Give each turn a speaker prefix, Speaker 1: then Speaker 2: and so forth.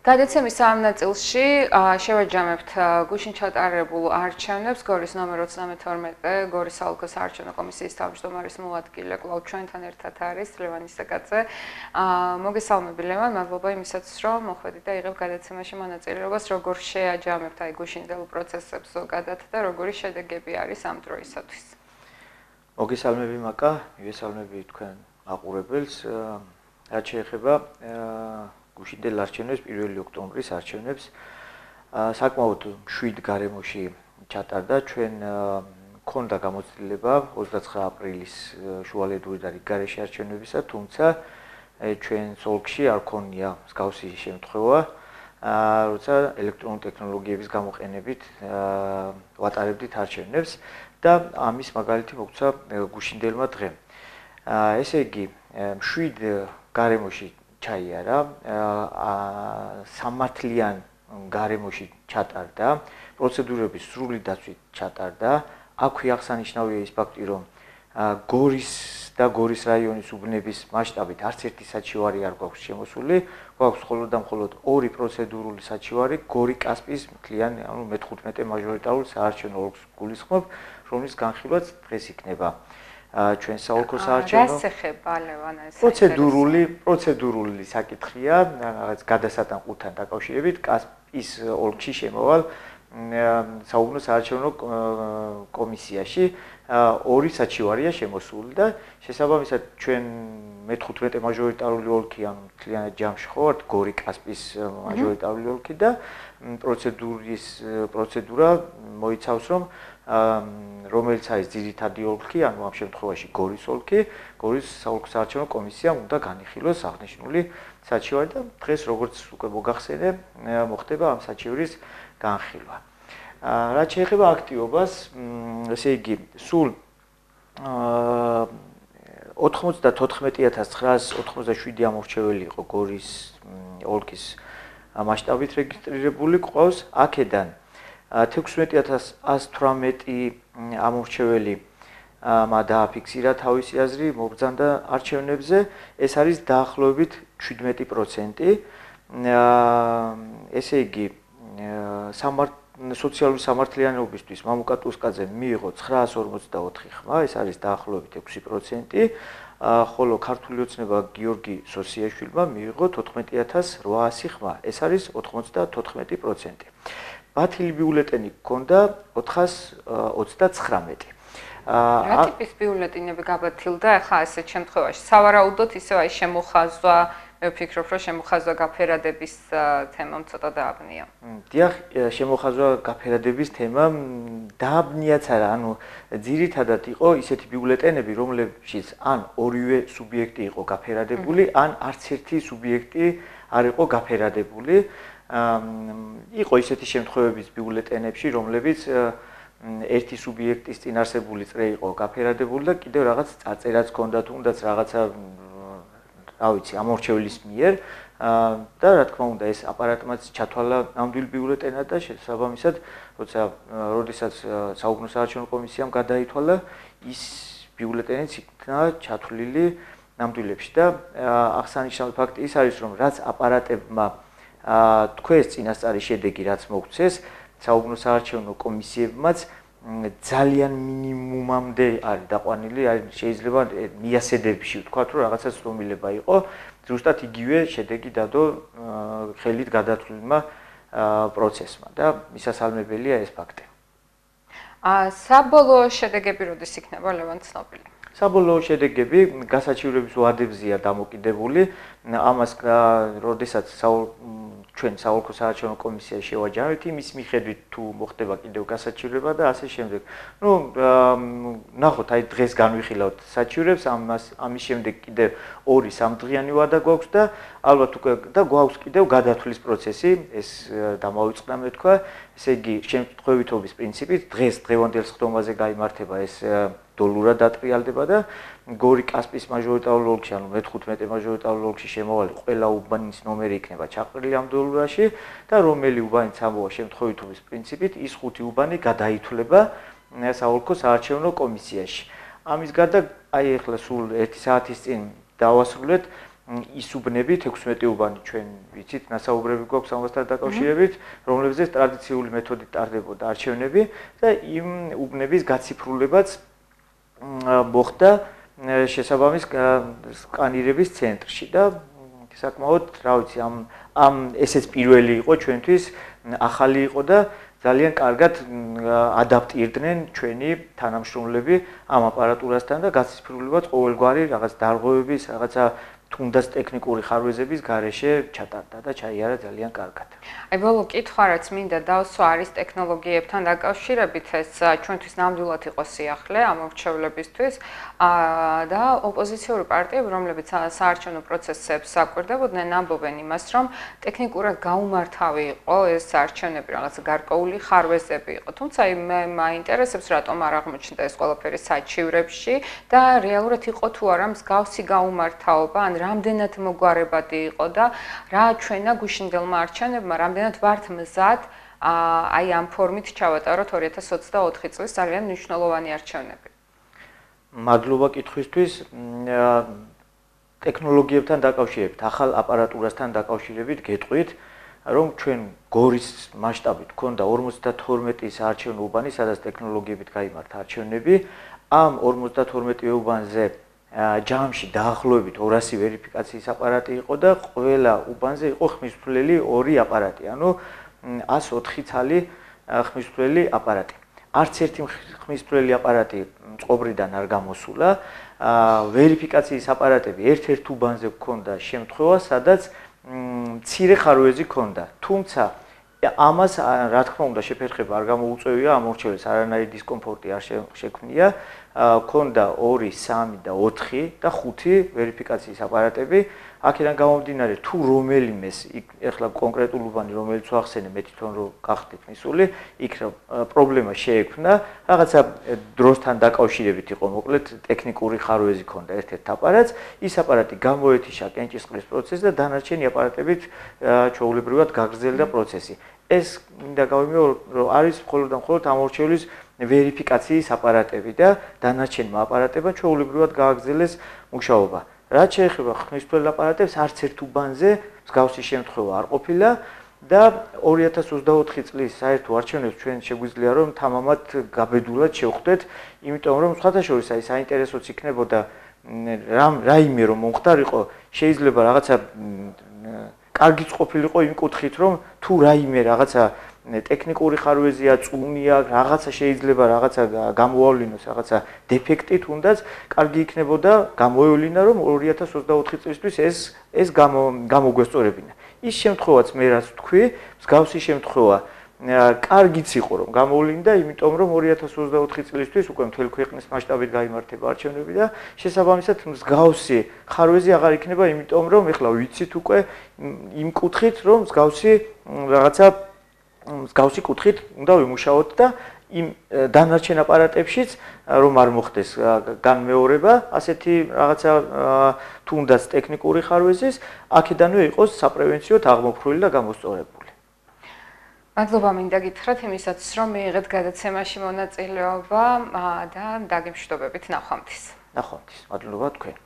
Speaker 1: გადაცემის ამ ნაწილში შევაჯამებთ გუშინ ჩატარებულ არჩევნებს გორის ნომერ 32 გორის საოლქო საარჩევნო კომისიის თავმჯდომარის მოადგილე კვლავ ჩვენთან ერთად არის ლევან ისაკაძე. მოგესალმები ლევან, მადლობა იმისაც რომ მოხვედით და იღებ გადაცემაში მონაწილეობას, როგორ შეაჯამებთ აი გუშინდელ პროცესებს ზოგადად და როგორი შედეგები არის ამ დროისათვის.
Speaker 2: მოგესალმები მაკა, მივესალმები თქვენ მაყურებელს. რაც შეეხება გუშინდელ არჩევნებს 1 ოქტომბრის არჩევნებს საკმაოდ მშვიდ გარემოში ჩატარდა. ჩვენ მქონდა გამოცდილება 29 აპრილის შუალედური და რიგგარეშე არჩევნებისა, თუმცა ჩვენ ოლქში არ ქონია მსგავსი შემთხვევა, როცა ელექტრონული ტექნოლოგიების გამოყენებით ვატარებდით არჩევნებს და ამის მაგალითი მოგცა გუშინდელმა დღემ. ესე იგი, მშვიდ გარემოში ჩაიარა, სამართლიან გარემოში ჩატარდა, პროცედურების სრული დაცვით ჩატარდა. აქვე აღსანიშნავია ის ფაქტი, რომ გორის და გორის რაიონის უბნების მასშტაბით არც ერთი საჩივარი არ გვაქვს შემოსული, გვაქვს მხოლოდ და მხოლოდ 2 პროცედურული საჩივარი, გორი კასპიის მთლიან, ანუ მე-15 მაჟორიტარულ საარჩევნო ოლქს გულისხმობ, რომლის განხილვაც დღეს იქნება. ჩვენ საოლქო საარჩევნო
Speaker 1: რას ეხება ლევან ეს
Speaker 2: პროცედურული საკითხია, რაღაც გადასატანყუთან დაკავშირებით კასპიის ოლქში შემოვალ საუბნო საარჩევნო კომისიაში 2 საჩივარია შემოსული და შესაბამისად ჩვენ მე-15 მაჟორიტარული ოლქი, ანუ მთლიანად ჯამში ხო ვართ გორი კასპიის მაჟორიტარული ოლქი და პროცედურა მოიცავს, რომ რომელიც არის ძირითადი ოლქი, ანუ ამ შემთხვევაში გორის ოლქი, გორის საოლქო საარჩევნო კომისიამ უნდა განიხილოს აღნიშნული საჩივარი და დღეს როგორც უკვე მოგახსენე, მოხდება ამ საჩივრის განხილვა. რაც შეეხება აქტივობას, ესე იგი, სულ 94987 ამორჩეველი იყო გორის ოლქის მასშტაბით რეგისტრირებული, ყავს აქედან 16118 ამორჩეველი დააფიქსირა თავისი აზრი, მობრძანდა არჩევნებზე, ეს არის დაახლოებით 17%. ესე იგი, სოციალური სამართლიანობისთვის მამუკა ტუსკაძემ მიიღო 954 ხმა, ეს არის დაახლოებით 6%, ხოლო ქართული ოცნება გიორგი სოსიაშვილმა მიიღო 14800 ხმა, ეს არის 94%. ბათილი ბიულეტენი გქონდა 429.
Speaker 1: რა ტიპის ბიულეტენები გაბათილდა ახლა ასეთ შემთხვევაში? სავარაუდოდ ისევ აი შემოხაზვა, მე ვფიქრობ, რომ შემოხაზვა გაფერადების თემამ ცოტა დააბნია.
Speaker 2: დიახ, შემოხაზვა გაფერადების თემამ დააბნიაც არა, ანუ ძირითადად იყო ისეთი ბიულეტენები, რომლებშიც ან ორივე სუბიექტი იყო გაფერადებული, ან არც ერთი სუბიექტი არ იყო გაფერადებული. იყო ისეთი შემთხვევების ბიულეტენებში, რომლებიც ერთი სუბიექტის წინარსებული წრე იყო გაფერადებული და კიდევ რაღაც წაწერაც ჰქონდა, თუნდაც რაღაცა რა ვიცი, ამორჩევლის მიერ და რა თქმა უნდა ეს აპარატმაც ჩათვალა ნამდვილ ბიულეტენად და შესაბამისად, როდესაც საუბნო საარჩევნო კომისიამ გადაითვალა, ის ბიულეტენიც იქნა ჩათვლილი ნამდვილებში და აღსანიშნავი ფაქტი ის არის, რომ რაც აპარატებმა თქვენს წინასწარი შედეგი რაც მოგცეს, საუბნო საარჩევნო კომისიებმაც ძალიან მინიმუმამდე არის დაყვანილი, შეიძლება მიასედებში ვთქვათ, რომ რაღაცა ცდომილება იყო, ზუსტად იგივე შედეგი დადო ხელით გადათვლილმა პროცესმა და მისასალმებელია ეს ფაქტი.
Speaker 1: საბოლოო შედეგები როდის იქნება ლევან ცნობილი?
Speaker 2: საბოლოო შედეგები გასაჩივრების ვადებზეა დამოკიდებული, ამას როდესაც ჩვენ საოლქო საარჩევნო კომისიაში შევაჯამებთ, იმის მიხედვით თუ მოხდება კიდევ გასაჩივრება და ასე შემდეგ. ნახოთ, აი დღეს განვიხილავთ საჩივრებს, ამის შემდეგ კიდევ 2-3 დღიანი ვადა გვაქვს და ალბათ უკვე და გვაქვს კიდევ გადათვლის პროცესი, ეს დამავიწყდა მე თქვა, ესე იგი, შემთხვევითობის პრინციპით დღეს დღევანდელ სხდომაზე გაიმართება ეს დოლურად დატრიალდება და გორი კასპიის მაჟორიტარულ ოლქში, ანუ მე-15 მაჟორიტარულ ოლქში შემოვალი ყველა უბანის ნომერი იქნება ჩაყრილი ამ დოლურაში და რომელი უბანიც ამოვა შემთხვევითობის პრინციპით, ის 5 უბანი გადაითვლება საოლქო საარჩევნო კომისიაში. ამის გარდა, აი ახლა სულ 1 საათის წინ დავასრულეთ ის უბნები 16 უბანი ჩვენ ვიცით, ნასაუბრები გვაქვს ამასთან დაკავშირებით, რომლებზეც ტრადიციული მეთოდით ტარდებოდა არჩევნები და იმ უბნების გაციფრულებაც მოხდა შესაბამის სკანირების ცენტრში და საკმაოდ, რა ვიცი, ამ ესეც პირველი იყო ჩვენთვის, ახალი იყო და ძალიან კარგად ადაპტირდნენ ჩვენი თანამშრომლები ამ აპარატურასთან და გაციფრულებაც ყოველგვარი რაღაც დარღვევების, რაღაცა თუნდაც ტექნიკური ხარვეზების გარეშე ჩატარდა და ჩაიარა ძალიან კარგად.
Speaker 1: აი ბოლო კითხვა რაც მინდა დავსვა არის ტექნოლოგიებთან დაკავშირებით ეს ჩვენთვის ნამდვილად იყო სიახლე ამ მრჩევლებისთვის და ოპოზიციური პარტიები რომლებიც საარჩევნო პროცესებს აკვირდებოდნენ ამბობენ იმას რომ ტექნიკურად გაუმართავი იყო ეს არჩევნები რაღაც გარკვეული ხარვეზები იყო თუმცა მე მაინტერესებს რატომ არ აღმოჩნდა ეს ყველაფერი საჩივრებში და რეალურად იყო თუ არა მსგავსი გაუმართავობა ან რამდენად მოგვარებადი იყო და რა ჩვენა გუშინდელმა არჩევნებმა რამდენად ვართ მზად აი ამ ფორმით ჩავატაროთ 2024 წლის ძალიან მნიშვნელოვანი არჩევნები.
Speaker 2: მადლობა კითხვისთვის. ტექნოლოგიებთან დაკავშირებით, ახალ აპარატურასთან დაკავშირებით გეტყვით, რომ ჩვენ გორის მასშტაბით ქონდა 52 საარჩევნო უბანი, სადაც ტექნოლოგიებით გაიმართა არჩევნები. ამ 52 უბანზე ჯამში დაახლოებით 200 ვერიფიკაციის აპარატი იყო და ყველა უბანზე იყო ხმისმთვლელი 2 აპარატი, ანუ 104 ცალი ხმისმთვლელი აპარატი. არც ერთი ხმისმთვლელი აპარატი წყობრიდან არ გამოსულა. ვერიფიკაციის აპარატები ერთ-ერთ უბანზე გქონდა შემთხვევა, სადაც მცირე ხარვეზი ჰქონდა. თუმცა ამას რა თქმა უნდა შეფერხება არ გამოუწევია, ამ მორჩევლებს არანაირი დისკომფორტი არ შექმნია. ქონდა 2, 3 და 4 და 5 ვერიფიკაციის აპარატები. აქედან გამომდინარე, თუ რომელიმეს ეხლა კონკრეტულ უბანი რომელიც ვახსენე, მე თვითონ რო გახდით მისული, იქ პრობლემა შეექმნა, რაღაცა დროსთან დაკავშირებით იყო, მოკლედ ტექნიკური ხარვეზი ქონდა ერთ-ერთ აპარატს, ის აპარატი გამოეთიშა კენჭისყრის პროცესს და დანარჩენი აპარატებით ჩვეულებრივად გაგრძელდა პროცესი. ეს მინდა გავიმეორო, რომ არის მხოლოდ და მხოლოდ ამ მორჩევლის ვერიფიკაციის აპარატები და დანარჩენმა აპარატებმა ჩვეულებრივად გააგრძელეს მუშაობა. რაც შეეხება ხმისმთვლელ აპარატებს, არც ერთ უბანზე მსგავსი შემთხვევა არ ყოფილა და 2024 წლის საერთო არჩევნებს ჩვენ შეგვიძლია რომ თამამად გაბედულად შევხვდეთ, იმიტომ რომ სხვათაშორის აი საინტერესოც იქნებოდა რაიმე რომ მომხდარიყო, შეიძლება რაღაცა კარგიც ყოფილიყო იმ კუთხით, რომ თუ რაიმე რაღაცა ტექნიკური ხარვეზია, წუნია, რაღაცა შეიძლება რაღაცა გამოავლინოს, რაღაცა დეფექტი თუნდაც, კარგი იქნებოდა გამოევლინა, რომ 2024 წლისთვის ეს გამოგვესწორებინა. ის შემთხვევაც მე რაც ვთქვი, მსგავსი შემთხვევა კარგიც იყო რომ გამოვლინდა, იმიტომ რომ 2024 წლისთვის უკვე მთელი ქვეყნის მასშტაბით გაიმართება არჩევნები და შესაბამისად მსგავსი ხარვეზი აღარ იქნება, იმიტომ რომ ეხლა ვიცით უკვე იმ კუთხით, რომ მსგავსი კუთხით უნდა ვიმუშაოთ და იმ დანარჩენ აპარატებშიც რომ არ მოხდეს განმეორება, ასეთი რაღაცა თუნდაც ტექნიკური ხარვეზის, აქედანვე იყოს საპრევენციოდ აღმოფხვრილი და გამოსწორებული.
Speaker 1: მადლობა მინდა გითხრათ იმისაც, რომ მიიღეთ გადაცემაში მონაწილეობა და დაგემშვიდობებით ნახვამდის.
Speaker 2: ნახვამდის. მადლობა თქვენ.